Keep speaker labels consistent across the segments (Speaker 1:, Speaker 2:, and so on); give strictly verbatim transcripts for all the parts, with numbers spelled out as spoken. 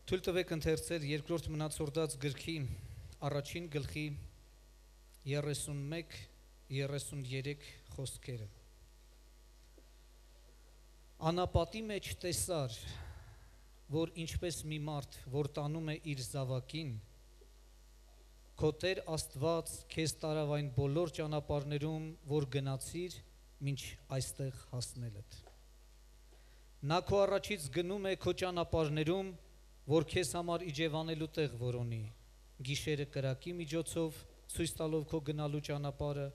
Speaker 1: Թույլ տվեք ընթերցել երկրորդ մնացորդաց գրքի առաջին գլխի երեսունմեկ երեսուներեք խոսքերը։ Անապատի մեջ տեսար, որ ինչպես մի մարդ, որ տանում է իր զավակին, քո Տեր Աստված քեզ տարավ այն բոլոր ճանապարհներում, որ գնացիր, մինչ այստեղ հասնելդ։ Նա քո առաջից գնում է քո ճանապարհներում, որ քեզ համար իջևանելու տեղ որոնի, գիշերը կրակի միջոցով, ցույց տալով քո գնալու ճանապարհը,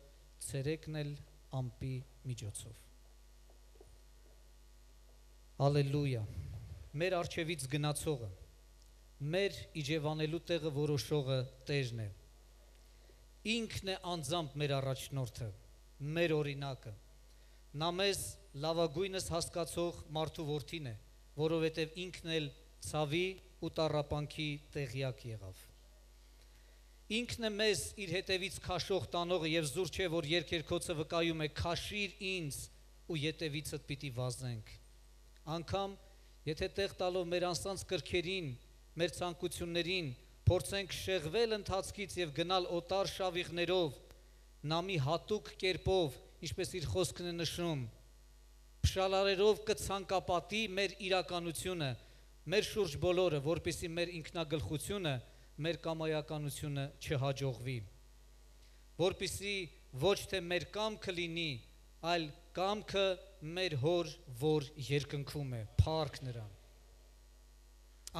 Speaker 1: ցերեկն էլ ամպի միջոցով։ Հալելույա։ Մեր առջևից գնացողը, մեր իջևանելու տեղը որոշողը Տերն է։ Ինքն է անձամբ մեր առաջնորդը, մեր օրինակը։ Նա մեզ լավագույնս հասկացող մարդու որդին է, որովհետև ինքն էլ ցավի ու տառապանքի տեղյակ եղավ։ Ինքն է մեզ իր հետևից քաշող տանողը եւ զուր չէ, որ երկերքոցը վկայում է քաշիր ինձ ու ետևիցդ պիտի վազենք։ Անկամ եթե տեղ տալով մեր անձանց կրքերին, մեր ցանկություններին, փորձենք շեղվել ընթացքից եւ գնալ օտար շավիղներով, նա մի հատուկ կերպով, ինչպես իր խոսքն է նշում, փշալարերով կցանկապատի մեր իրականությունը, մեր շուրջ բոլորը, որպեսզի մեր ինքնագլխությունը, մեր կամայականությունը չհաջողվի, որպեսզի ոչ թե մեր կամքը լինի, այլ կամքը մեր հոր, որ երկնքում է, փառք նրան։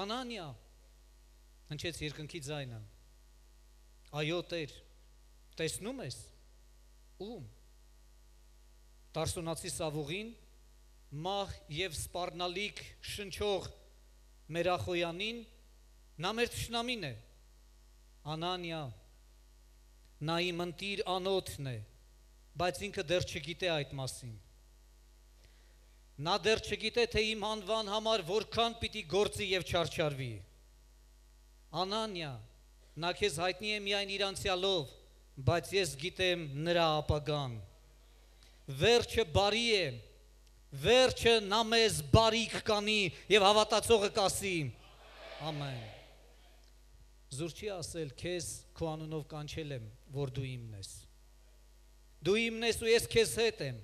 Speaker 1: Անանիա, հնչեց երկնքի ձայնը, այո Տեր, տեսնում ես, ում, Տարսոնացի Սավուղին, մահ և սպառնալիք շնչող Մերախոյանին, նա մեր թշնամին է, Անանիա, նա իմ ընտիր անոթն է, բայց ինքը դեռ չգիտե այդ մասին։ Նա դեռ չգիտե, թե իմ անվան համար որքան պիտի գործի և չարչարվի։ Անանիա, նա քեզ հայտնի է միայն իր անցյալով, բայց ես գիտեմ նրա ապագան։ Վերջը բարի է, վերջը նա մեզ բարիք կանի և հավատացողը կասի, ամեն։ Զուր չի ասել, քեզ քո անունով կանչել եմ, որ դու իմն ես։ Դու իմն ես ու ես քեզ հետ եմ,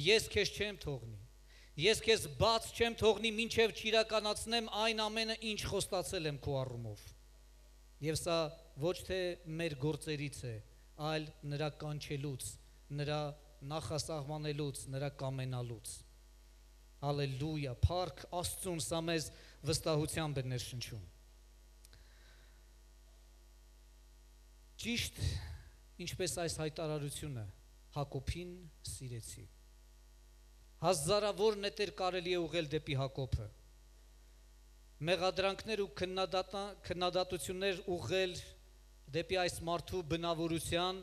Speaker 1: ես քեզ չեմ թողնի, ես քեզ բաց չեմ թողնի, մինչև չիրականացնեմ այն ամենը, ինչ խոստացել եմ քո առումով։ Եվ սա ոչ թե մեր գործերից է, այլ նրա կանչելուց, նրա նախասահմանելուց, նրա կամենալուց։ Հալելույա, փառք Աստծուն, սա մեզ վստահությամբ է ներշնչում։ Ճիշտ, ինչպես այս հայտարարությունը, Հակոբին սիրեցի։ Հազարավոր նետեր կարելի է ուղղել դեպի Հակոբը, մեղադրանքներ ու քննադատություններ ուղղել դեպի այս մարդու բնավորության,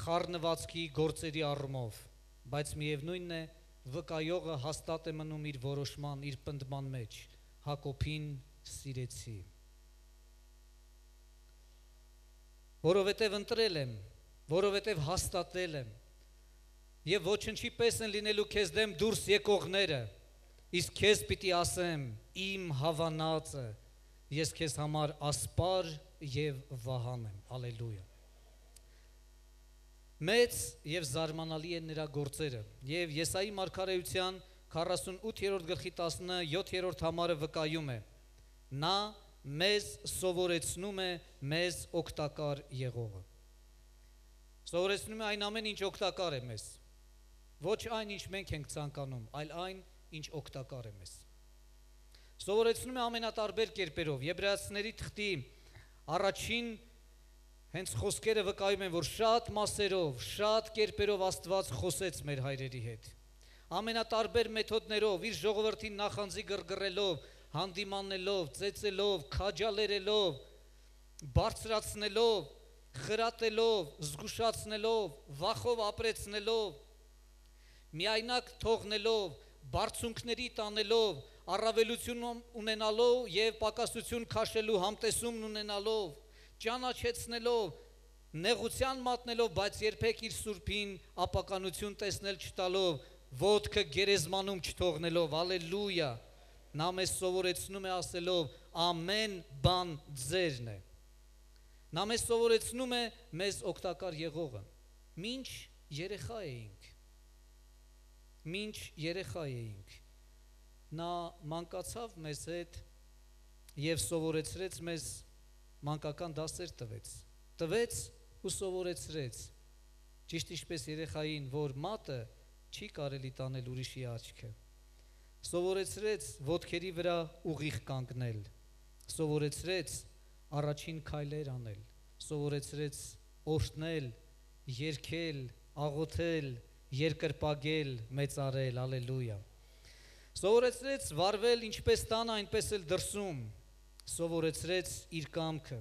Speaker 1: խառնվածքի գործերի առումով, բայց միևնույնն է, վկայողը հաստատ է մնում իր որոշման, իր պնդման մեջ, Հակոբին սիրեցի։ Որովհետև ընտրել եմ, որովհետև հաստատել եմ, և ոչնչի պես են լինելու քեզ դեմ դուրս եկողները, իսկ քեզ պիտի ասեմ, իմ հավանածը, ես քեզ համար ասպար և վահան եմ, հալելույա։ Մեծ և զարմանալի են նրա գործերը, և Եսայի մարգարեության քառասունութերորդ գլխի տասնյոթերորդ համարը վկայում է, նա մեզ սովորեցնում է մեզ օգտակար եղողը։ Սովորեցնում է այն ամեն, ինչ օգտակար է մեզ, ոչ այն, ինչ մենք ենք ցանկանում, այլ այն, ինչ օգտակար է մեզ։ Սովորեցնում է ամենատարբեր կերպերով, Եբրայեցիների թղթի առաջին հենց խոսքերը վկայում են, որ շատ մասերով, շատ կերպերով Աստված խոսեց մեր հայրերի հետ։ Ամենատարբեր մեթոդներով, իր ժողովրդին նախանձի գրգռելով, հանդիմանելով, ծեծելով, քաջալերելով, բարձրացնելով, խրատելով, զգուշացնելով, վախով ապրեցնելով, միայնակ թողնելով, բարձունքների տանելով, առավելություն ունենալով և պակասություն քաշելու համտեսումն ունենալով, ճանաչեցնելով, նեղության մատնելով, բայց երբեք իր սուրբին ապականություն տեսնել չտալով, ոտքը գերեզմանում չթողնելով, հալելույա, նա մեզ սովորեցնում է ասելով ամեն բան ձերն է։ Նա մեզ սովորեցնում է մեզ օգտակար եղողը։ Մինչ երեխա էինք, մինչ երեխա էինք, նա մանկացավ մեզ հետ և սովորեցրեց մեզ, մանկական դասեր տվեց, տվեց ու սովորեցրեց, ճիշտ ինչպես երեխային, որ մատը չի կարելի տանել ուրիշի աչքը, սովորեցրեց ոտքերի վրա ուղիղ կանգնել, սովորեցրեց առաջին քայլեր անել, սովորեցրեց օրհնել, երգել, աղոթել, երկրպագել, մեծարել, ալելույա, սովորեցրեց վարվել ինչպես տանը, այնպես էլ դրսում, սովորեցրեց իր կամքը,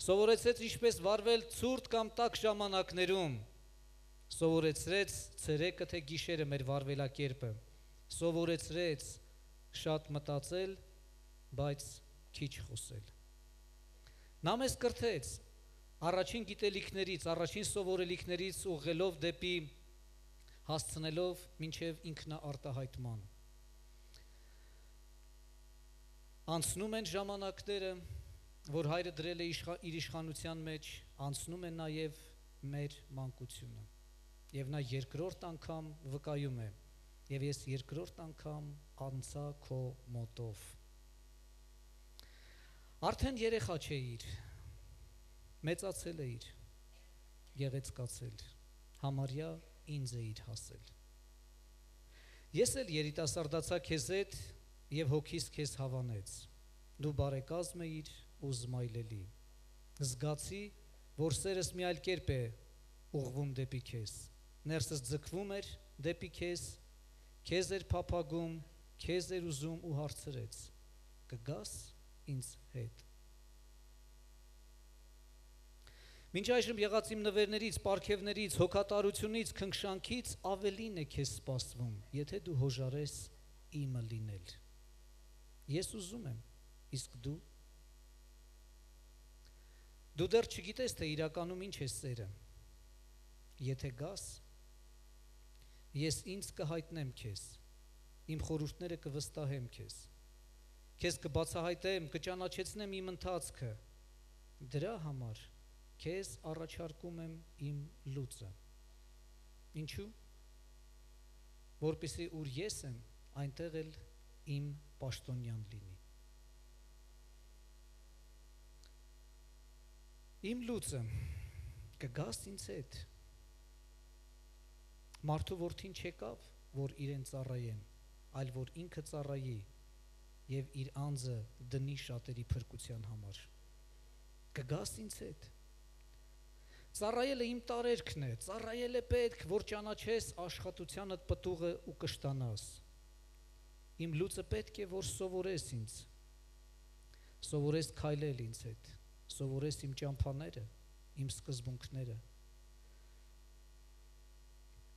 Speaker 1: սովորեցրեց ինչպես վարվել ցուրտ կամ տաք ժամանակներում, սովորեցրեց ցերեկը թե գիշերը մեր վարվելակերպը, սովորեցրեց շատ մտածել, բայց քիչ խոսել։ Նա մեզ կրթեց առաջին գիտելիքներից, առաջին սովորելիքներից ուղղելով դեպի հասցնելով մինչև ինքնաարտահայտման։ Անցնում են ժամանակները, որ հայրը դրել է իր իշխանության մեջ, անցնում է նաև մեր մանկությունը։ Եվ նա երկրորդ անգամ վկայում է, և ես երկրորդ անգամ անցա քո մոտով։ Արդեն երեխա չէիր, մեծացել էիր, գեղեցկացել, համարյա ինձ էիր հասել։ Ես էլ երիտասարդացա քեզ հետ և հոգիս քեզ հավանեց, դու բարեկազմ էիր ու զմայլելի, զգացի, որ սերս մի այլ կերպ է ուղղվում դեպի քեզ, ներսս ձգվում էր դեպի քեզ, քեզ էր փափագում, քեզ էր ուզում ու հարցրեց, կգաս ինձ հետ։ Մինչ այժմ եղած իմ նվերներից, պարգևներից, հոգատարությունից, քնքշանքից ավելին է քեզ սպասվում, եթե դու հոժարես իմը լինել։ Ես ուզում եմ, իսկ դու։ Դու դեռ չգիտես, թե իրականում ինչ է սերը։ Եթե գաս, ես ինձ կհայտնեմ քեզ, իմ խորհուրդները կվստահեմ քեզ, քեզ կբացահայտեմ, կճանաչեցնեմ իմ ընթացքը, դրա համար քեզ առաջարկում եմ իմ լուծը։ Ինչու՞։ Որպեսզի ուր ես եմ, այնտեղ էլ իմ պաշտոնյան լինի։ Իմ լուծը կգաս ինձ հետ։ Մարդու որդին չեկավ, որ իրեն ծառայեն, այլ որ ինքը ծառայի և իր անձը դնի շատերի փրկության համար։ Կգաս ինձ հետ։ Ծառայելը իմ տարերքն է, ծառայել է պետք, որ ճանաչես աշխատությանդ պտուղը ու կշտանաս։ Իմ լուծը պետք է, որ սովորես ինձ, սովորես քայլել ինձ հետ, սովորես իմ ճամփաները, իմ սկզբունքները,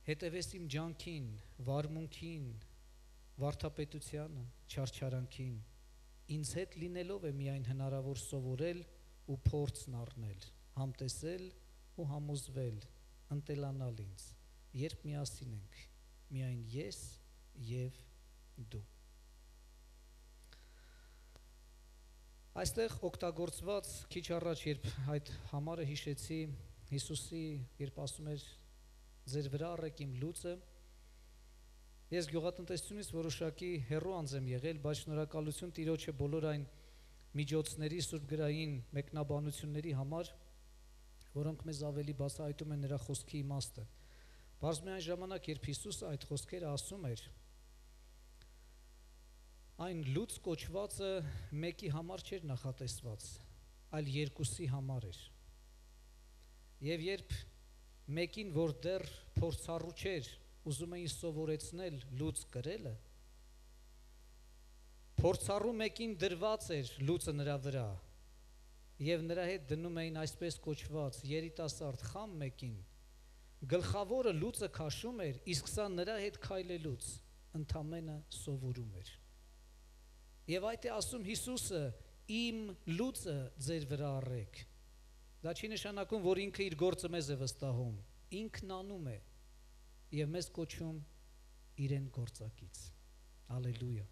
Speaker 1: հետևես իմ ջանքին, վարմունքին, վարդապետությանը, չարչարանքին, ինձ հետ լինելով է միայն հնարավոր սովորել ու փորձն առնել, համտեսել ու համոզվել, ընտելանալ ինձ, երբ միասին ենք, միայն ես և դու։ Այստեղ օգտագործված քիչ առաջ, երբ այդ համարը հիշեցի, Հիսուսի, երբ ասում էր ձեր վրա առեք իմ լուծը, ես գյուղատնտեսությունից որոշակի հեռու անձ եմ եղել, բայց շնորհակալություն Տիրոջը բոլոր այն միջոցների, սուրբգրային մեկնաբանությունների համար, որոնք մեզ ավելի բացահայտում են նրա խոսքի իմաստը։ Բարձր այն ժամանակ, երբ Հիսուսը այդ խոսքերը ասում էր, այն լուծ կոչվածը մեկի համար չէր նախատեսված, այլ երկուսի համար էր։ Եվ երբ մեկին, որ դեռ փորձառու չէր, ուզում էին սովորեցնել լուծ կրելը, փորձառու մեկին դրված էր լուծը նրա վրա, և նրա հետ դնում էին այսպես կոչված երիտասարդ խամ մեկին, գլխավորը լուծը քաշում էր, իսկ սա նրա հետ քայլելուց ընդամենը սովորում էր։ Եվ այդ է ասում Հիսուսը, իմ լուծը ձեր վրա առեք։ Դա չի նշանակում, որ ինքը իր գործը մեզ է վստահում, ինքն անում է և մեզ կոչում իրեն գործակից։ Ալելույա։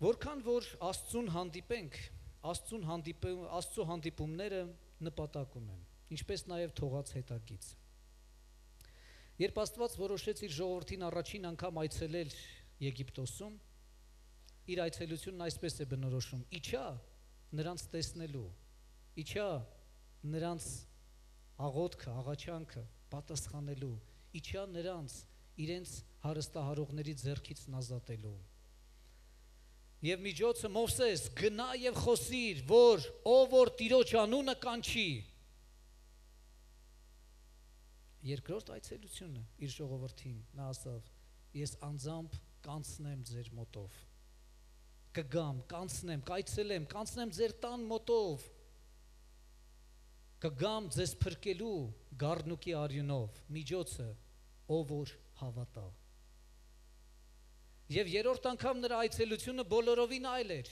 Speaker 1: Որքան որ Աստծուն հանդիպենք, Աստծուն հանդիպում, Աստծո հանդիպումները նպատակ ունեն, ինչպես նաև թողած հետագից։ Երբ Աստված որոշեց իր ժողովրդին առաջին անգամ այցելել Եգիպտոսում, իր այցելությունն այսպես է բնորոշում. իջա նրանց տեսնելու, իջա նրանց աղոթքը, աղաչանքը պատասխանելու, իջա նրանց իրենց հարստահարողների ձեռքից ազատելու։ Եվ միջոցը Մովսես, գնա եւ խոսիր, որ ով որ Տիրոջ անունը կանչի։ Երկրորդ այցելությունը իր ժողովրդին նա ասավ. ես անձամբ կանցնեմ ձեր մոտով, կգամ, կանցնեմ, կայցելեմ, կանցնեմ ձեր տան մոտով, կգամ ձեզ փրկելու գառնուկի արյունով, միջոցը ով որ հավատա։ Եվ երրորդ անգամ նրա այցելությունը բոլորովին այլ էր։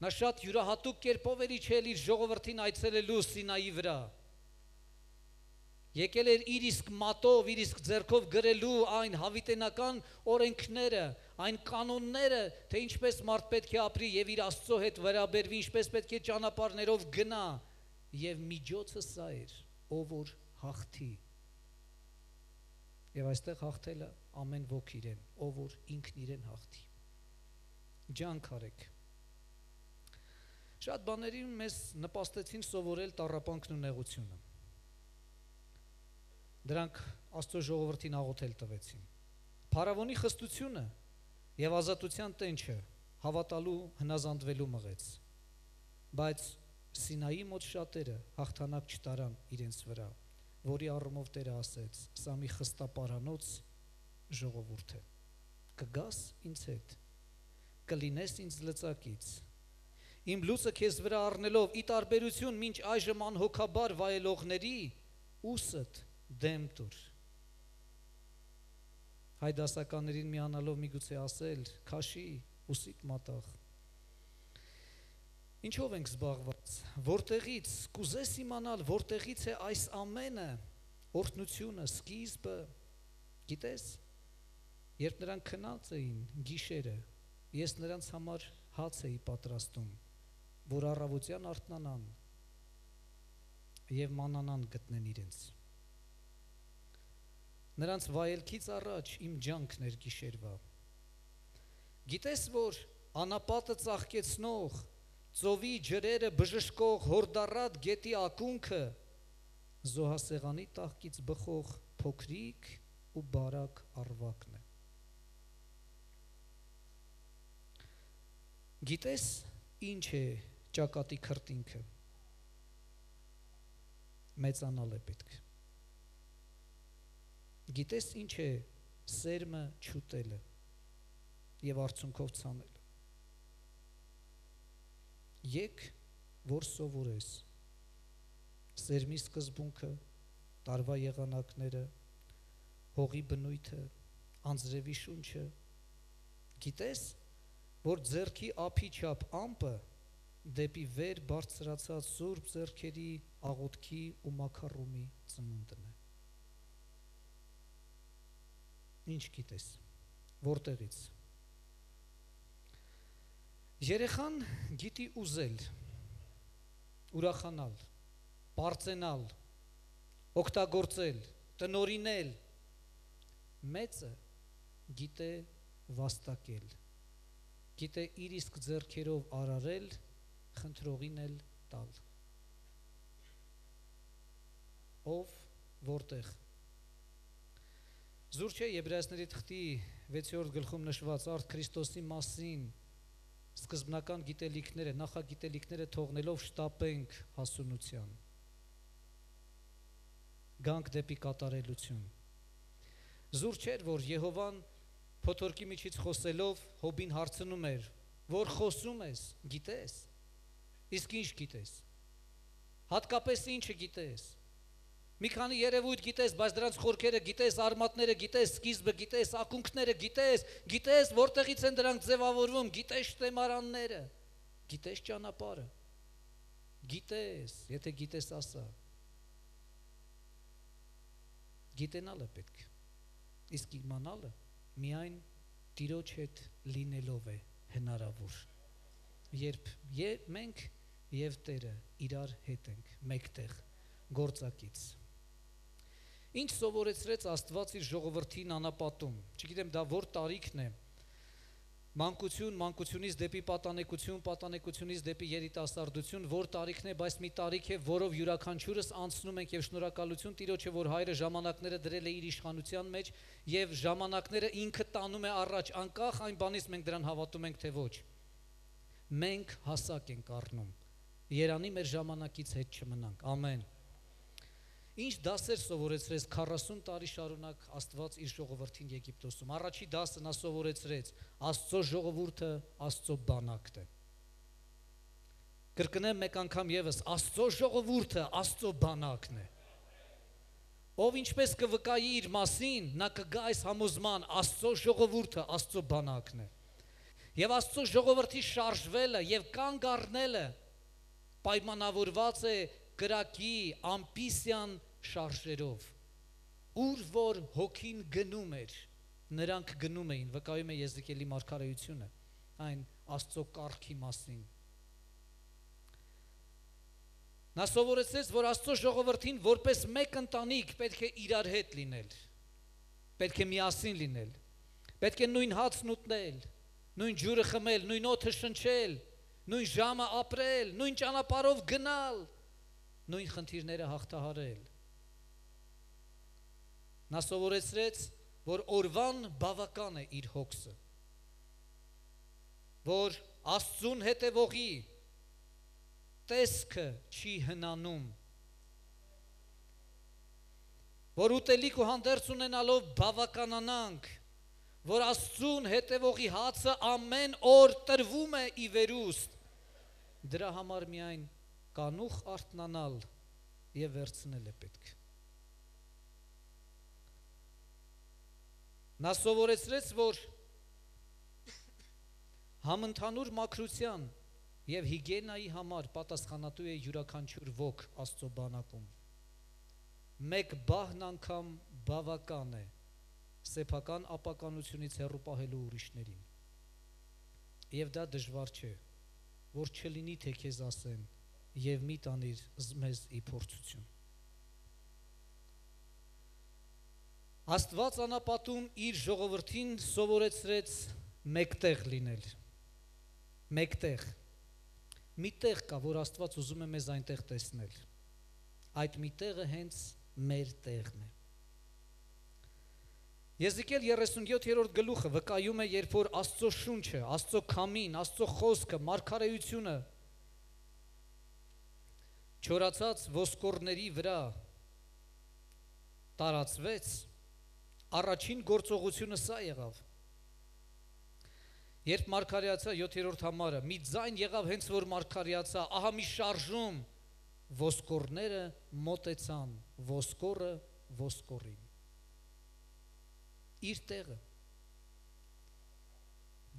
Speaker 1: Նա շատ յուրահատուկ կերպով էր իջել իր ժողովրդին այցելելու Սինայի վրա։ Եկել էր իր իսկ մատով, իր իսկ ձեռքով գրելու այն հավիտենական օրենքները, այն կանոնները, թե ինչպես մարդ պետք է ապրի եւ իր Աստծո հետ վերաբերվի, ինչպես պետք է ճանապարհներով գնա, եւ միջոցը սա էր, ով որ հաղթի։ Եվ այստեղ հաղթելը ամեն ոք իրեն, ով որ ինքն իրեն հաղթի։ Ջանք արեք։ Շատ բաների մեզ նպաստեցին սովորել տառապանքն ու նեղությունը։ Դրանք Աստծո ժողովրդին աղոթել տվեցին։ Փարավոնի խստությունը եւ ազատության տենչը հավատալու, հնազանդվելու մղեց։ Բայց Սինայի մոտ շատերը հաղթանակ չտարան իրենց վրա, որի առումով Տերը ասեց. սա մի խստապարանոց ժողովուրդ է, կգաս ինձ հետ, կլինես ինձ լծակից, իմ լուծը քեզ վրա առնելով, ի տարբերություն մինչ այժմ անհոգաբար վայելողների, ուսդ դեմ տուր։ Հայ դասականներին միանալով միգուցե ասել, քաշի ուսիդ մատաղ։ Ինչով ենք զբաղված, որտեղից, կուզես իմանալ, որտեղից է այս ամենը, օրհնությունը, սկիզբը, գիտես, երբ նրանք քնած էին գիշերը, ես նրանց համար հաց էի պատրաստում, որ առավոտյան արթնանան և մանանան գտնեն իրենց։ Նրանց վայելքից առաջ իմ ջանքն էր գիշերվա։ Գիտես, որ անապատը ծաղկեցնող, ծովի ջրերը բժշկող հորդառատ գետի ակունքը զոհասեղանի տաղկից բխող փոքրիկ ու բարակ առվակն է։ Գիտես ինչ է ճակատի քրտինքը։ Մեծանալ է պետք։ Գիտես ինչ է սերմը չուտելը եւ արցունքով ցանելը։ Եկ, որ սովորես սերմի սկզբունքը, տարվա եղանակները, հողի բնույթը, անձրևի շունչը, գիտես, որ ձեռքի ափի չափ ամպը դեպի վեր բարձրացած սուրբ ձեռքերի աղոթքի ու մաքարումի ծնունդն է։ Ինչ գիտես, որտեղից։ Երեխան գիտի ուզել, ուրախանալ, պարծենալ, օգտագործել, տնորինել, մեծը գիտե վաստակել, գիտե իր իսկ ձեռքերով արարել, խնդրողին էլ տալ։ Ով, որտեղ։ Զուր չէ Եբրայեցիների թղթի վեցերորդ գլխում նշված արդ Քրիստոսի մասին սկզբնական գիտելիքները, նախագիտելիքները թողնելով շտապենք հասունության, գանք դեպի կատարելություն։ Զուր չէր, որ Եհովան փոթորկի միջից խոսելով Հոբին հարցնում էր, որ խոսում ես, գիտես, իսկ ինչ գիտես, հատկապես ինչը գիտես, մի քանի երևույթ գիտես, բայց դրանց խորքերը գիտես, արմատները գիտես, սկիզբը գիտես, ակունքները գիտես, գիտես, որտեղից են դրանք ձևավորվում, գիտես շտեմարանները, գիտես ճանապարհը, գիտես, եթե գիտես ասա, գիտենալը պետք, իսկ իմանալը միայն Տիրոջ հետ լինելով է հնարավոր։ Երբ ե- մենք եւ Տերը իրար հետ ենք, մեկտեղ, գործակից։ Ինչ սովորեցրեց Աստված իր ժողովրդին անապատում։ Չգիտեմ դա որ տարիքն է։ Մանկություն, մանկությունից դեպի պատանեկություն, պատանեկությունից դեպի երիտասարդություն, որ տարիքն է, բայց մի տարիք է, որով յուրաքանչյուրս անցնում ենք եւ շնորհակալություն Տիրոջը, որ Հայրը ժամանակները դրել է իր իշխանության մեջ եւ ժամանակները ինքը տանում է առաջ, անկախ այն բանից մենք դրան հավատում ենք թե ոչ։ Մենք հասակ ենք առնում։ Երանի մեր ժամանակից հետ չմնանք։ Ամեն։ Ինչ դասեր սովորեցրեց քառասուն տարի շարունակ Աստված իր ժողովրդին Եգիպտոսում։ Առաջի դասը նա սովորեցրեց Աստծո ժողովուրդը Աստծո բանակն է։ Կրկնեմ մեկ անգամ եւս, Աստծո ժողովուրդը Աստծո բանակն է։ Ով ինչպես կվկայի իր մասին, նա կգա այս համոզման, Աստծո ժողովուրդը Աստծո բանակն է։ Եվ Աստծո ժողովրդի շարժվելը եւ կանգ առնելը պայմանավորված է կրակի ամպիսյան շարժերով, ուր որ հոգին գնում էր, նրանք գնում էին, վկայում է Եզեկիելի մարգարեությունը, այն Աստծո կարգի մասին։ Նա սովորեցրեց, որ Աստծո ժողովրդին որպես մեկ ընտանիք պետք է իրար հետ լինել, պետք է միասին լինել, պետք է նույն հացն ուտնել, նույն ջուրը խմել, նույն օդը շնչել, նույն ժամը ապրել, նույն ճանապարհով գնալ, նույն խնդիրները հաղթահարել։ Նա սովորեցրեց, որ օրվան բավական է իր հոգսը, որ Աստծուն հետևողի տեսքը չի հնանում, որ ուտելիք ու հանդերձ ունենալով բավականանանք, որ Աստծուն հետևողի հացը ամեն օր տրվում է ի վերուստ, դրա համար միայն կանուխ արթնանալ եւ վերցնել է պետք։ Նա սովորեցրեց, որ համընդհանուր մաքրության եւ հիգիենայի համար պատասխանատու է յուրաքանչյուր ոք Աստծո բանակում։ Մեկ բահն անգամ բավական է սեփական ապականությունից հեռու պահելու ուրիշներին։ Եվ դա դժվար չէ, որ չլինի թե քեզ ասեն եւ մի տանիր մեզ ի փորձություն։ Աստված անապատում իր ժողովրդին սովորեցրեց մեկտեղ լինել։ Մեկտեղ։ Մի տեղ կա, որ Աստված ուզում է մեզ այնտեղ տեսնել։ Այդ մի տեղը հենց մեր տեղն է։ Եզեկիել երեսունյոթերորդ գլուխը վկայում է, երբ որ Աստծո շունչը, Աստծո քամին, Աստծո խոսքը, մարգարեությունը չորացած ոսկորների վրա տարածվեց, առաջին գործողությունը սա եղավ։ Երբ մարգարեացա յոթերորդ համարը, մի ձայն եղավ հենց որ մարգարեացա, ահա մի շարժում, ոսկորները մոտեցան, ոսկորը ոսկորին։ Իր տեղը։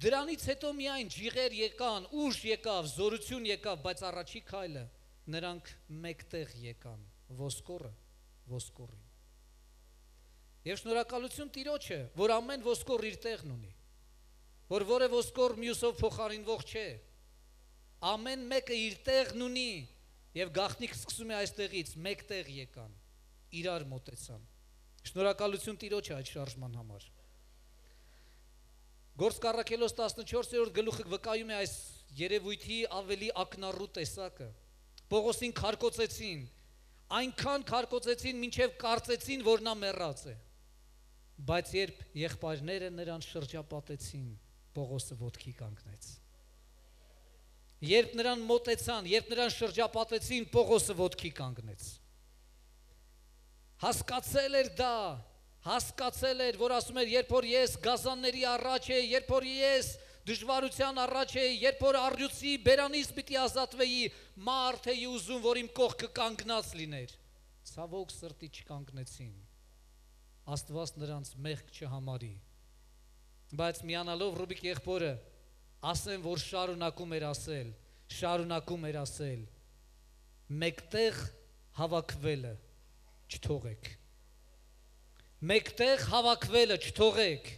Speaker 1: Դրանից հետո միայն ջիղեր եկան, ուժ եկավ, զորություն եկավ, բայց առաջի քայլը նրանք մեկտեղ եկան, ոսկորը ոսկորին։ Եվ շնորհակալություն Տիրոջը, որ ամեն ոսկոր իր տեղն ունի, որ որևէ ոսկոր մյուսով փոխարինվող չէ, ամեն մեկը իր տեղն ունի եւ գաղտնիք սկսում է այստեղից, մեկտեղ եկան, իրար մոտեցան։ Շնորհակալություն Տիրոջը այդ շարժման համար։ Գործք առաքելոց տասնչորսերորդ գլուխը վկայում է այս երևույթի ավելի ակնառու տեսակը։ Պողոսին քարկոծեցին, այնքան քարկոծեցին, մինչև կարծեցին, որ նա մեռած է։ Բայց երբ եղբայրները նրան շրջապատեցին, Պողոսը ոտքի կանգնեց։ Երբ նրան մոտեցան, երբ նրան շրջապատեցին, Պողոսը ոտքի կանգնեց։ Հասկացել էր դա, հասկացել էր, որ ասում էր, երբ որ ես գազանների առաջ է, երբ որ ես դժվարության առաջ է, երբ որ առյուծի բերանից պիտի ազատվեի, մարդ էի ուզում, որ իմ կողքը կանգնած լիներ։ Ցավոք սրտի չկանգնեցին։ Աստված նրանց մեղք չհամարի։ Բայց միանալով Ռուբիկ եղբորը, ասեն, որ շարունակում էր ասել, շարունակում էր ասել, մեկտեղ հավաքվելը չթողեք։ Մեկտեղ հավաքվելը չթողեք։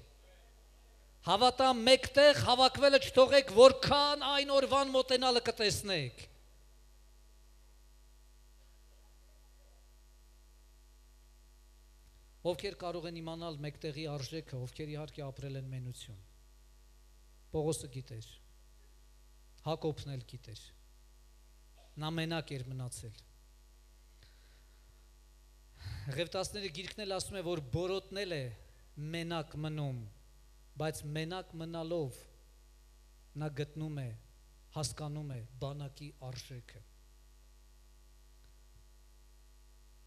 Speaker 1: Հավատամ մեկտեղ հավաքվելը չթողեք, որքան այն օրվան մոտենալը կտեսնեք։ Ովքեր կարող են իմանալ մեկտեղի արժեքը, ովքեր իհարկե ապրել են մենություն։ Պողոսը գիտեր, Հակոբն էլ գիտեր, նա մենակ էր մնացել։ Ղևտացիների գիրքն էլ ասում է, որ բորոտնել է մենակ մնում, բայց մենակ մնալով նա գտնում է, հասկանում է բանակի արժեքը։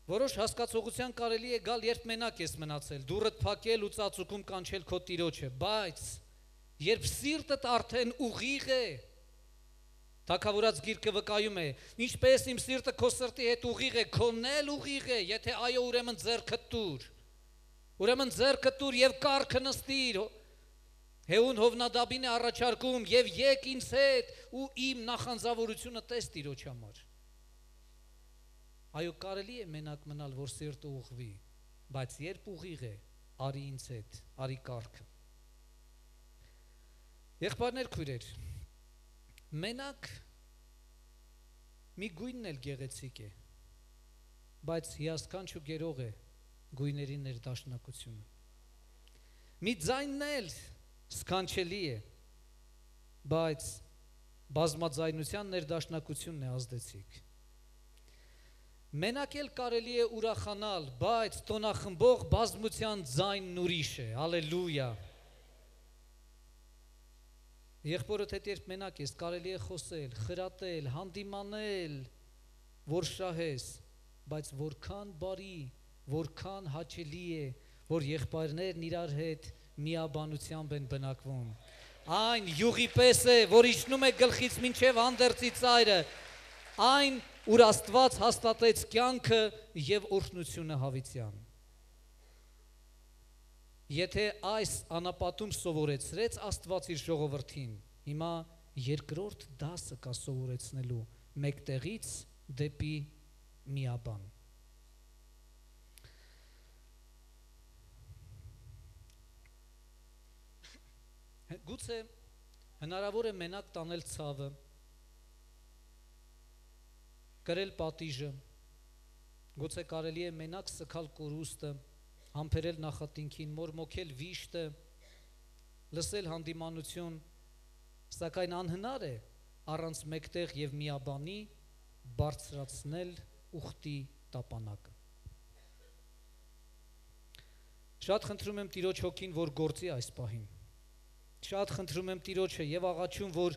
Speaker 1: Որոշ հասկացողության կարելի է գալ, երբ մենակ ես մնացել, դուռդ փակել ու ծածուկում կանչել քո տիրոջը, բայց երբ սիրտդ արդեն ուղիղ է, Թագավորաց գիրքը վկայում է, ինչպես իմ սիրտը քո սրտի հետ ուղիղ է, քոնն էլ ուղիղ է, եթե այո, ուրեմն ձեռքդ տուր, ուրեմն ձեռքդ տուր եւ կառքը նստիր, Հեուն Հովնադաբին է առաջարկում եւ եկ ինձ հետ ու իմ նախանձավորությունը տես տիրոջ համար։ Այո, կարելի է մենակ մնալ, որ սիրտը ուղղվի, բայց երբ ուղիղ է, արի ինձ հետ, արի կառքը։ Եղբայրներ, քույրեր, մենակ մի գույնն էլ գեղեցիկ է, բայց հիասքանչ ու գերող է գույների ներդաշնակությունը։ Մի ձայնն էլ սքանչելի է, բայց բազմաձայնության ներդաշնակությունն է ազդեցիկ։ Մենակ էլ կարելի է ուրախանալ, բայց տոնախմբող բազմության ձայնն ուրիշ է, հալելույա։ Եղբորդ հետ երբ մենակ ես, կարելի է խոսել, խրատել, հանդիմանել, որ շահես, բայց որքան բարի, որքան հաճելի է, որ եղբայրներն իրար հետ միաբանությամբ են բնակվում։ Այն յուղի պես է, որ իջնում է գլխից մինչև հանդերձի ծայրը, այն, ուր Աստված հաստատեց կյանքը և օրհնությունը հավիտյան։ Եթե այս անապատում սովորեցրեց Աստված իր ժողովրդին, հիմա երկրորդ դասը կա սովորեցնելու մեկտեղից դեպի միաբան։ Գուցե հնարավոր է մենակ տանել ցավը, կրել պատիժը, գուցե կարելի է մենակ սգալ կորուստը, համբերել նախատինքին, մորմոքել վիշտը, լսել հանդիմանություն, սակայն անհնար է առանց մեկտեղ և միաբանի բարձրացնել ուխտի տապանակը։ Շատ խնդրում եմ Տիրոջ հոգին, որ գործի այս պահին։ Շատ խնդրում եմ Տիրոջը և աղաչում, որ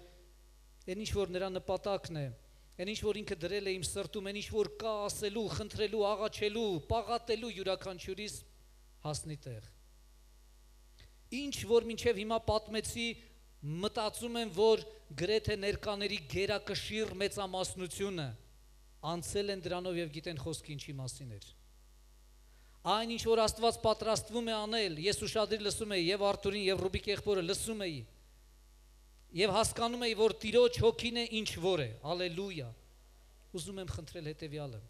Speaker 1: այն ինչ որ նրա նպատակն է, այն ինչ որ ինքը դրել է իմ սրտում, այն ինչ որ կա ասելու, խնդրելու, աղաչելու, պաղատելու յուրաքանչյուրիս հասնի տեղ։ Ինչ որ մինչև հիմա պատմեցի, մտածում եմ, որ գրեթե ներկաների գերակշիռ մեծամասնությունը անցել են դրանով և գիտեն խոսքը ինչի մասին էր։ Այն ինչ որ Աստված պատրաստվում է անել, ես ուշադիր լսում էի և Արթուրին և Ռուբիկ եղբորը լսում էի և հասկանում էի, որ Տիրոջ հոգին է ինչ որ է, հալելույա։ Ուզում եմ խնդրել հետևյալը։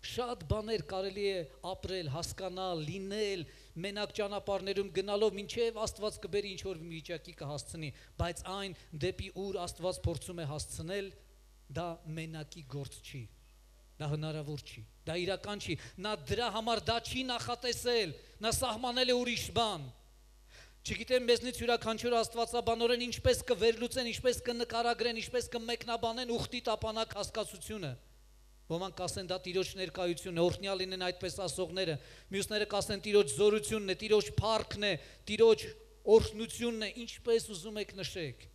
Speaker 1: Շատ բաներ կարելի է ապրել, հասկանալ, լինել, մենակ ճանապարհներում գնալով, մինչև Աստված կբերի ինչ որ վիճակի կհասցնի, բայց այն դեպի ուր Աստված փորձում է հասցնել, դա մենակի գործ չի, դա հնարավոր չի, դա իրական չի, նա դրա համար դա չի նախատեսել, նա սահմանել է ուրիշ բան։ Չգիտեմ մեզնից յուրաքանչյուր աստվածաբանորեն ինչպես կվերլուծեն, ինչպես կնկարագրեն, ինչպես կմեկնաբանեն ուխտի տապանակ հասկացությունը։ Ոմանք կասեն դա Տիրոջ ներկայությունն է, օրհնյալ լինեն այդպես ասողները, մյուսները կասեն Տիրոջ զորությունն է, Տիրոջ փառքն է, Տիրոջ օրհնությունն է, ինչպես ուզում եք նշեք,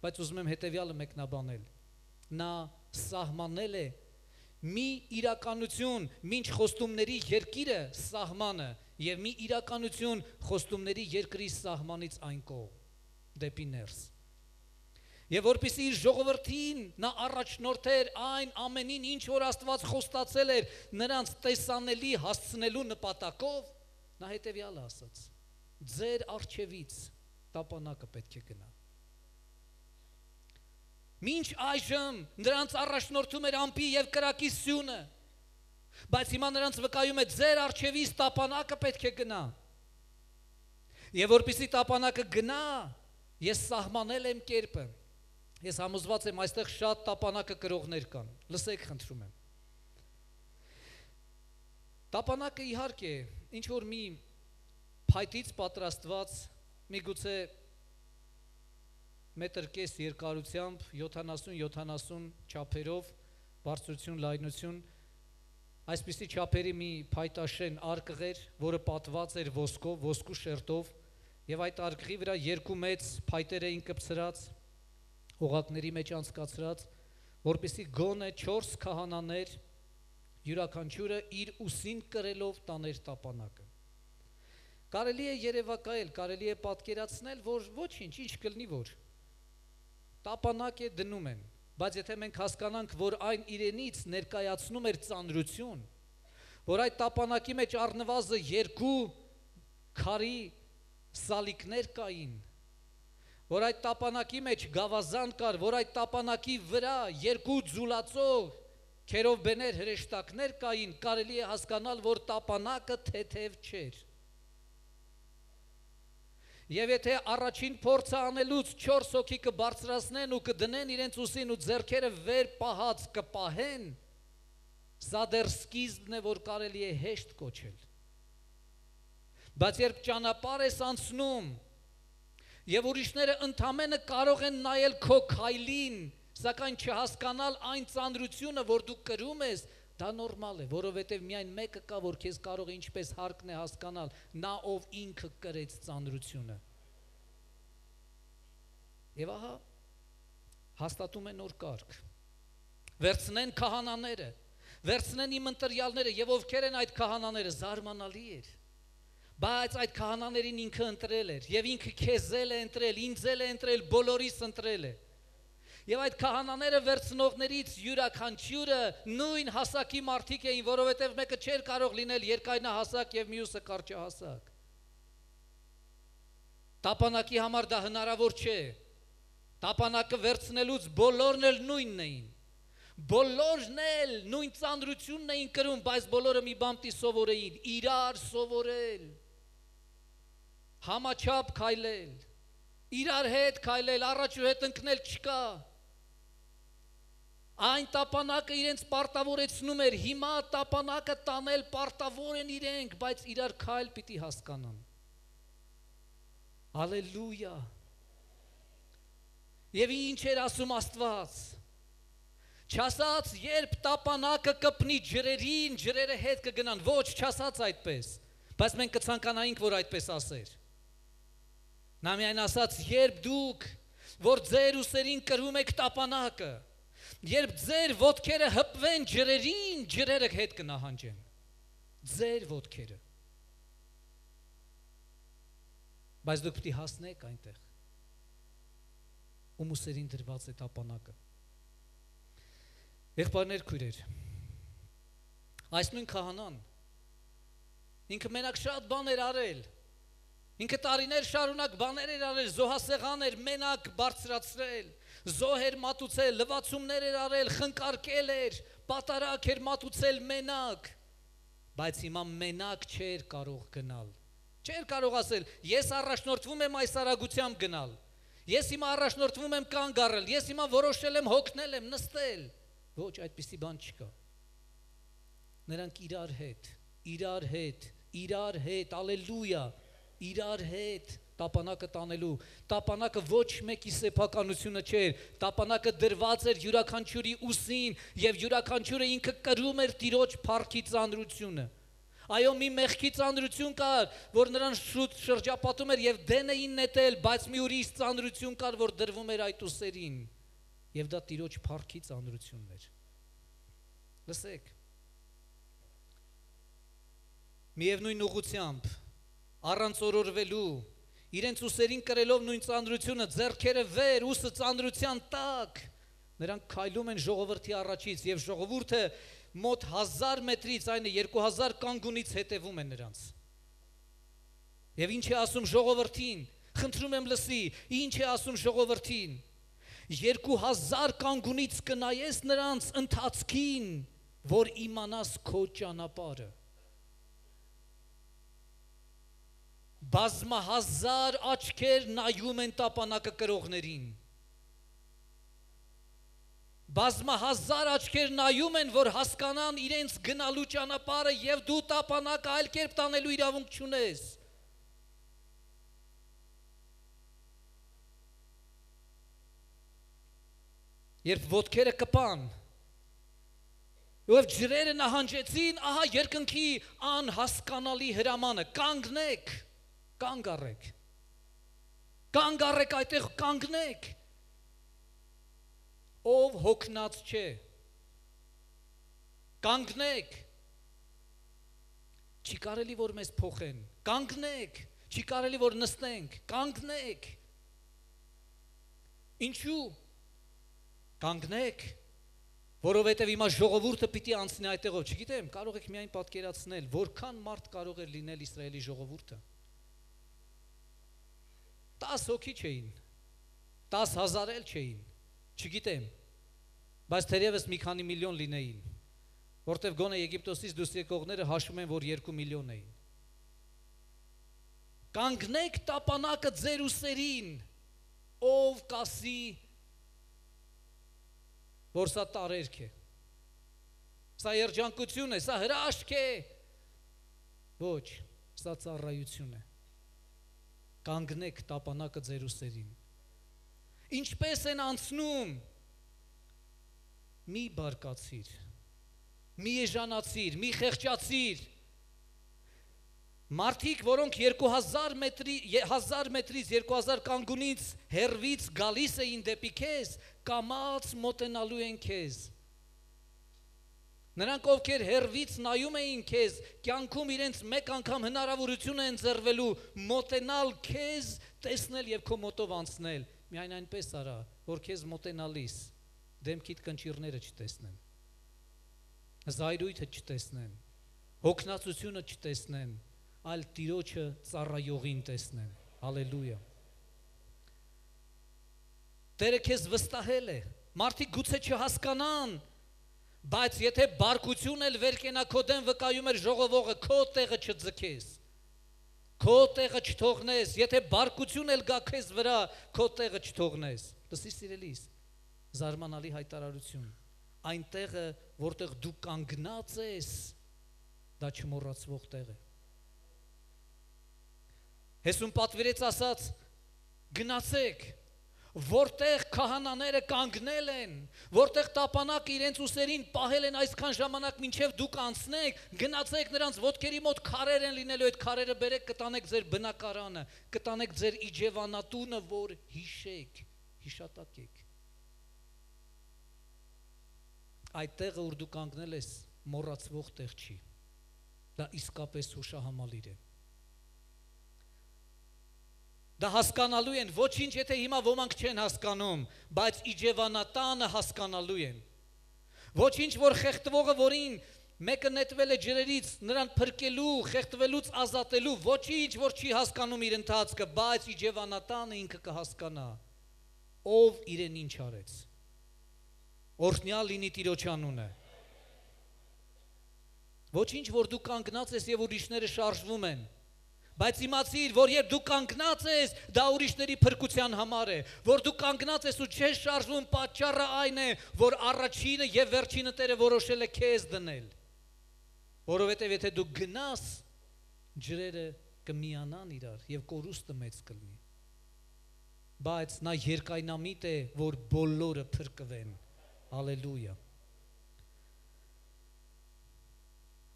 Speaker 1: բայց ուզում եմ հետևյալը մեկնաբանել։ Նա սահմանել է մի իրականություն, մինչ խոստումների երկիրը սահմանը և մի իրականություն խոստումների երկրի սահմանից այն կողմ դեպի ներս։ Եվ որպեսզի իր ժողովրդին նա առաջնորդեր այն ամենին, ինչ որ Աստված խոստացել էր նրանց տեսանելի հասցնելու նպատակով, նա հետևյալը ասաց. ձեր առջևից տապանակը պետք է գնա։ Մինչ այժմ նրանց առաջնորդում էր ամպի և կրակի սյունը, բայց հիմա նրանց վկայում է ձեր առջևից տապանակը պետք է գնա։ Եվ որպեսզի տապանակը գնա, ես սահմանել եմ կերպը։ Ես համոզված եմ, այստեղ շատ տապանակը կրողներ կան։ Լսեք, խնդրում եմ։ Տապանակը իհարկե ինչ որ մի փայտից պատրաստված, միգուցե մետր կես երկարությամբ, յոթանասուն յոթանասուն չափերով, բարձրություն, լայնություն, այսպիսի չափերի մի փայտաշեն արկղ էր, որը պատված էր ոսկով, ոսկու շերտով, եւ այդ արկղի վրա երկու մեծ փայտեր էին կպցրած, օղակների մեջ անցկացրած, որպեսզի գոնե չորս քահանաներ յուրաքանչյուրը իր ուսին կրելով տաներ տապանակը։ Կարելի է երևակայել, կարելի է պատկերացնել, որ ոչինչ, ինչ կլինի որ տապանակ է դնում են, բայց եթե մենք հասկանանք, որ այն իրենից ներկայացնում էր ծանրություն, որ այդ տապանակի մեջ առնվազն երկու քարի սալիկներ կային, որ այդ տապանակի մեջ գավազան կար, որ այդ տապանակի վրա երկու ձուլածող քերովբեներ հրեշտակներ կային, կարելի է հասկանալ, որ տապանակը թեթև չէր։ Եվ եթե առաջին փորձը անելուց չորս հոգի կբարձրացնեն ու կդնեն իրենց ուսին ու ձեռքերը վեր պահած կպահեն, սա դեռ սկիզբն է, որ կարելի է հեշտ կոչել։ Բայց երբ ճանապարհ ես անցնում, եւ ուրիշները ընդամենը կարող են նայել քո քայլին, սակայն չհասկանալ այն ծանրությունը, որ դու կրում ես, դա նորմալ է, որովհետև միայն մեկը կա, որ քեզ կարող է ինչպես հարկն է հասկանալ, նա ով ինքը կրեց ծանրությունը։ Եվ ահա հաստատում է նոր կարգ։ Վերցնեն քահանաները, վերցնեն իմ ընտրյալները, եւ ովքեր են այդ քահանաները, զարմանալի էր։ Բայց այդ քահանաներին ինքը ընտրել էր, եւ ինքը քեզել է ընտրել, ինձել է ընտրել, բոլորիս ընտրել է։ Եվ այդ քահանաները վերցնողներից յուրաքանչյուրը նույն հասակի մարդիկ էին, որովհետև մեկը չէր կարող լինել երկայնահասակ եւ մյուսը կարճահասակ։ Տապանակի համար դա հնարավոր չէ։ Տապանակը վերցնելուց բոլորն էլ նույնն էին։ Բոլորն էլ նույն ծանրությունն էին կրում, բայց բոլորը մի բան պիտի սովորեին, իրար սովորել, համաչափ քայլել, իրար հետ քայլել, առաջ ու հետ ընկնել չկա։ Այն տապանակը իրենց պարտավորեցնում էր, հիմա տապանակը տանել պարտավոր են իրենք, բայց իրար քայլ պիտի հասկանան։ Հալելույա։ Եվ ինչ էր ասում Աստված։ Չասաց, երբ տապանակը կպնի ջրերին, ջրերը հետ կգնան, ոչ, չասաց այդպես, բայց մենք կցանկանայինք, որ այդպես ասեր։ Նա միայն ասաց, երբ դուք, որ ձեր ուսերին կրում եք տապանակը, երբ ձեր ոտքերը հպվեն ջրերին, ջրերը հետ կնահանջեն, ձեր ոտքերը, բայց դուք պիտի հասնեք այնտեղ, ում ուսերին դրված է տապանակը։ Եղբայրներ, քույրեր, այս նույն քահանան, ինքը մենակ շատ բաներ արել, ինքը տարիներ շարունակ բաներ էր արել, զոհասեղան էր մենակ բարձրացրել, զոհ էր մատուցել, լվացումներ էր արել, խնկարկել էր, պատարակ էր մատուցել մենակ, բայց հիմա մենակ չէր կարող գնալ, չէր կարող ասել, ես առաջնորդվում եմ այս արագությամբ գնալ, ես հիմա առաջնորդվում եմ կանգ առել, ես հիմա որոշել եմ հոգնել եմ, նստել, ոչ, այդպիսի բան չկա։ Նրանք իրար հետ, իրար հետ, իրար հետ, ալելույա, իրար հետ տապանակը տանելու, տապանակը ոչ մեկի սեփականությունը չէր, տապանակը դրված էր յուրաքանչյուրի ուսին եւ յուրաքանչյուրը ինքը կրում էր Տիրոջ փառքի ծանրությունը։ Այո, մի մեղքի ծանրություն կար, որ նրան շուտ շրջապատում էր եւ դեն էին նետել, բայց մի ուրիշ ծանրություն կար, որ դրվում էր այդ ուսերին։ Եվ դա Տիրոջ փառքի ծանրությունն էր։ Լսեք։ Միևնույն ուղղությամբ, առանց օրորվելու, իրենց ուսերին կրելով նույն ծանրությունը, ձեռքերը վեր, ուսը ծանրության տակ, նրանք քայլում են ժողովրդի առաջից եւ ժողովուրդը մոտ հազար մետրից, այն է երկու հազար կանգունից հետևում է նրանց։ Եվ ինչ է ասում ժողովրդին, խնդրում եմ լսի, ինչ է ասում ժողովրդին, երկու հազար կանգունից կնայես նրանց ընթացքին, որ իմանաս քո ճանապարհը։ բազմահազար աչքեր նայում են տապանակը կրողներին։ Բազմահազար աչքեր նայում են, որ հասկանան իրենց գնալու ճանապարհը եւ դու տապանակը այլ կերպ տանելու իրավունք չունես։ Երբ ոտքերը կպան, եւ ջրերը նահանջեցին, ահա երկնքի անհասկանալի հրամանը, կանգնեք, կանգ առեք, կանգ առեք այդտեղ, կանգնեք, ով հոգնած չէ, կանգնեք, չի կարելի, որ մեզ փոխեն, կանգնեք, չի կարելի, որ նստենք, կանգնեք, ինչու, կանգնեք, որովհետև հիմա ժողովուրդը պիտի անցնի այդտեղով, չգիտեմ, կարող եք միայն պատկերացնել, որքան մարդ կարող էր լինել Իսրայելի ժողովուրդը։ Տաս հոգի չէին, տաս հազար էլ չէին, չգիտեմ, բայց թերևս մի քանի միլիոն լինեին, որտև գոնե Եգիպտոսից դուրս եկողները հաշվում են, որ երկու միլիոն էին։ Կանգնեք տապանակը ձեր ուսերին, ով կասի, որ սա տարերք է, սա երջանկություն է, սա հրաշք է, ոչ, սա ծառայություն է, կանգնեք տապանակը ձեր ուսերին, ինչպես են անցնում, մի բարկացիր, մի էժանացիր, մի խեղճացիր, մարդիկ, որոնք երկու հազար մետրի, հազար մետրից, երկու հազար կանգունից հեռվից գալիս էին դեպի քեզ, կամաց մոտենալու են քեզ։ Նրանք, ովքեր հեռվից նայում էին քեզ, կյանքում իրենց մեկ անգամ հնարավորություն են ընձեռվելու մոտենալ քեզ, տեսնել եւ քո մոտով անցնել։ Միայն այնպես արա, որ քեզ մոտենալիս դեմքիդ կնճիռները չտեսնեն, զայրույթը չտեսնեն, հոգնածությունը չտեսնեն, այլ Տիրոջը ծառայողին տեսնեն։ Հալելույա։ Տերը քեզ վստահել է, մարդիկ գուցե չհասկանան, բայց եթե բարկություն էլ վեր կենա քո դեմ վկայում էր ժողովողը, քո տեղը չձգես, քո տեղը չթողնես, եթե բարկություն էլ գա քեզ վրա, քո տեղը չթողնես։ Լսի սիրելիս, զարմանալի հայտարարություն, այն տեղը, որտեղ դու կանգնած ես, դա չմոռացվող տեղ է։ Հեսուն պատվիրեց ասաց, գնացեք, որտեղ քահանաները կանգնել են, որտեղ տապանակը իրենց ուսերին պահել են այսքան ժամանակ մինչև դուք անցնեք, գնացեք նրանց ոտքերի մոտ քարեր են լինելու, այդ քարերը բերեք, կտանեք ձեր բնակարանը, կտանեք ձեր իջևանատունը, որ հիշեք, հիշատակեք։ Այդ տեղը, որ դու կանգնել ես, մոռացվող տեղ չի, դա իսկապես հուշահամալիր է։ Դա հասկանալու են, ոչինչ եթե հիմա ոմանք չեն հասկանում, բայց իջևանատանը հասկանալու են։ Ոչինչ, որ խեղտվողը, որին մեկը նետվել է ջրերից, նրան փրկելու, խեղտվելուց ազատելու, ոչինչ, որ չի հասկանում իր ընթացքը, բայց իջևանատանը ինքը կհասկանա, ով իրեն ինչ արեց։ Օրհնյալ լինի Տիրոջ անունը։ Ոչինչ, որ դու կանգնած ես եւ ուրիշները շարժվում են, բայց իմացիր, որ երբ դու կանգնած ես, դա ուրիշների փրկության համար է, որ դու կանգնած ես ու չես շարժվում, պատճառը այն է, որ առաջինը եւ վերջինը Տերը որոշել է քեզ դնել, որովհետեւ եթե դու գնաս, ջրերը կմիանան իրար եւ կորուստը մեծ կլինի, բայց նա երկայնամիտ է, որ բոլորը փրկվեն, հալելույա,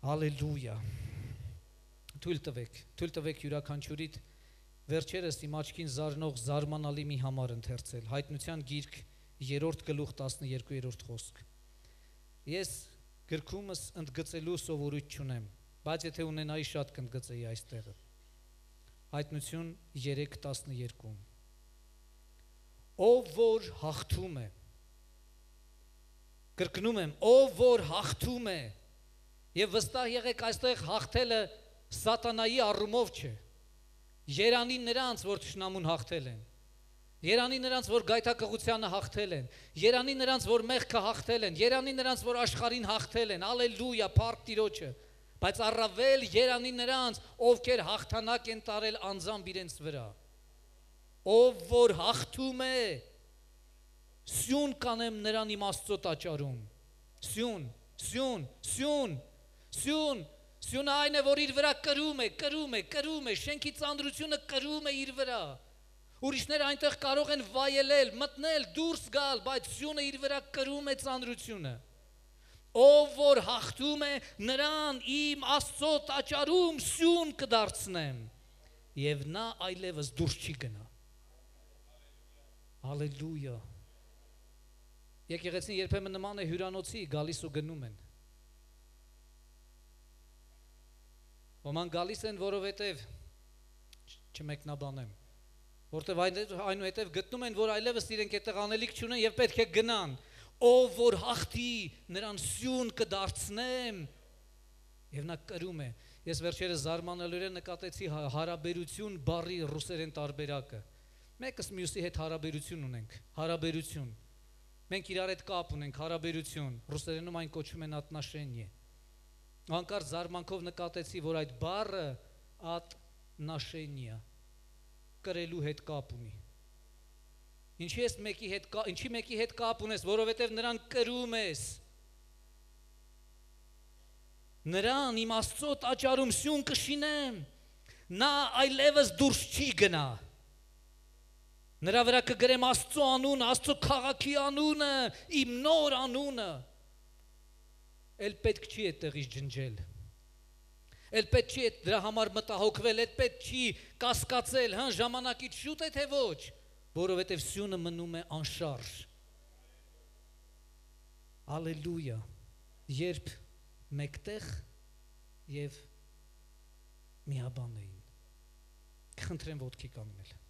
Speaker 1: հալելույա, թույլ տվեք, թույլ տվեք յուրաքանչյուրիդ վերջերս իմ աչքին զարնող զարմանալի մի համար ընթերցել, Հայտնության գիրք երրորդ գլուխ տասներկուերորդ խոսք։ Ես գրքումս ընդգծելու սովորույթ չունեմ, բայց եթե ունենայի շատ կընդգծեի այստեղը։ Հայտնություն երեք տասներկու։ Ով որ հաղթում է, կրկնում եմ, ով որ հաղթում է, եւ վստահ եղեք այստեղ հաղթելը Սատանայի առումով չէ, երանի նրանց, որ թշնամուն հաղթել են, երանի նրանց, որ գայթակղությանը հաղթել են, երանի նրանց, որ մեղքը հաղթել են, երանի նրանց, որ աշխարհին հաղթել են, ալելույա, փառք Տիրոջը, բայց առավել երանի նրանց, ովքեր հաղթանակ են տարել անձամբ իրենց վրա։ Ով որ հաղթում է, սյուն կանեմ նրան իմ Աստծո տաճարում։ Սյուն, սյուն, սյուն, սյուն, սյունը այն է, որ իր վրա կրում է, կրում է, կրում է, շենքի ծանրությունը կրում է իր վրա։ Ուրիշները այնտեղ կարող են վայելել, մտնել, դուրս գալ, բայց սյունը իր վրա կրում է ծանրությունը։ Ով որ հաղթում է, նրան իմ Աստծո տաճարում սյուն կդարձնեմ, եւ նա այլևս դուրս չի գնա։ Հալելույա։ Եկեղեցին երբեմն նման է հյուրանոցի, գալիս ու գնում են։ Ոմանք գալիս են, որովհետև չմեկնաբանեմ, որտև այնուհետև գտնում են, որ այլևս իրենք այդտեղ անելիք չունեն եւ պետք է գնան։ Ով որ հաղթի, նրան սյուն կդարձնեմ, եւ նա կրում է։ Ես վերջերս զարմանալիորեն նկատեցի հարաբերություն բառի ռուսերեն տարբերակը։ Մեկս մյուսի հետ հարաբերություն ունենք, հարաբերություն։ Մենք իրար հետ կապ ունենք, հարաբերություն։ Ռուսերենում այն կոչում են отношение։ Անկարծ զարմանքով նկատեցի, որ այդ բառը отношение կրելու հետ կապ ունի։ Ինչի ես մեկի հետ կապ, ինչի մեկի հետ կապ ունես, որովհետև նրան կրում ես։ Նրան իմ Աստծո տաճարում սյուն կշինեմ, նա այլևս դուրս չի գնա։ Նրա վրա կգրեմ Աստծո անունը, Աստծո քաղաքի անունը, իմ նոր անունը։ Էլ պետք չի այդտեղից ջնջել։ Էլ պետք չի դրա համար մտահոգվել, էլ պետք չի կասկածել, հա, ժամանակից շուտ է թե ոչ, որովհետև սյունը մնում է անշարժ։ Ալելույա։ Երբ մեկտեղ եւ միաբան էին։ Խնդրեմ ոտքի կանգնել։